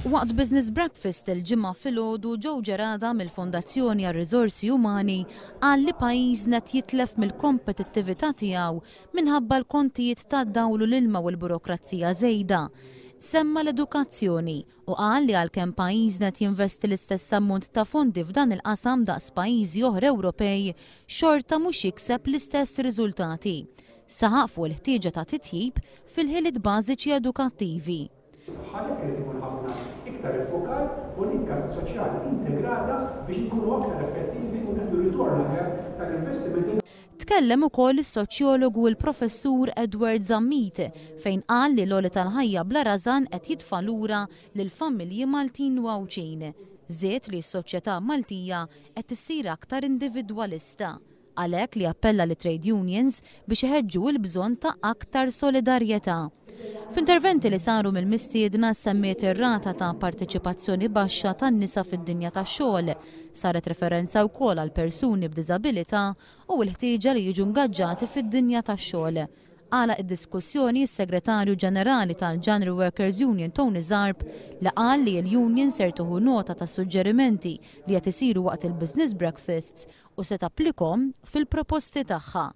Waqt Business Breakfast il-Ġimgħa filgħodu Joe Gerada mill-Fondazzjoni għar-Riżorsi Umani qal li pajjiżna qed jitlef mill-kompetittività tiegħu minħabba l-kontijiet tad-dawl u l-ilma u l-burokrazija żejda. Semma l-edukazzjoni u qal li għalkemm pajjiżna qed jinvesti l-istess ammont ta' fondi f'dan il-qasam daqs pajjiżi oħra Ewropej, xorta mhux jikseb l-istess riżultati. Saħaq fuq il-ħtieġa ta' titjib fil-ħiliet bażiċi edukattivi. Għalhekk irid ikun ħafna iktar iffukat politika soċjali integrata biex inkunu aktar effettivi u nieħdu ritorn aħjar tal-investimenti. Tkellem ukoll is-soċjologu l-Professur Edward Zammit fejn qal li l-għoli tal-ħajja bla rażan qed jitfa' lura lill-familji Maltin u Għawdxin. Żied li s-soċjetà Maltija qed issir aktar individwalista. Għalhekk li appella lit-trade unions biex iħeġġu l-bżonn ta' aktar solidarjetà. F'interventi li saru mill-mistiedna semmiet ir-rata ta' parteċipazzjoni baxxa tan-nisa fid-dinja tax-xogħol. Saret referenza wkoll għal persuni b'diżabilità u l-ħtieġa li jiġu ngaġġati fid-dinja tax-xogħol. Għalaq id-diskussjoni s-Segretarju Ġenerali tal-General Workers Union Tony Zarb li qal li l-union ser tieħu nota ta' suġġerimenti li qed isiru waqt il-business breakfasts u se tapplikhom fil-proposti tagħha.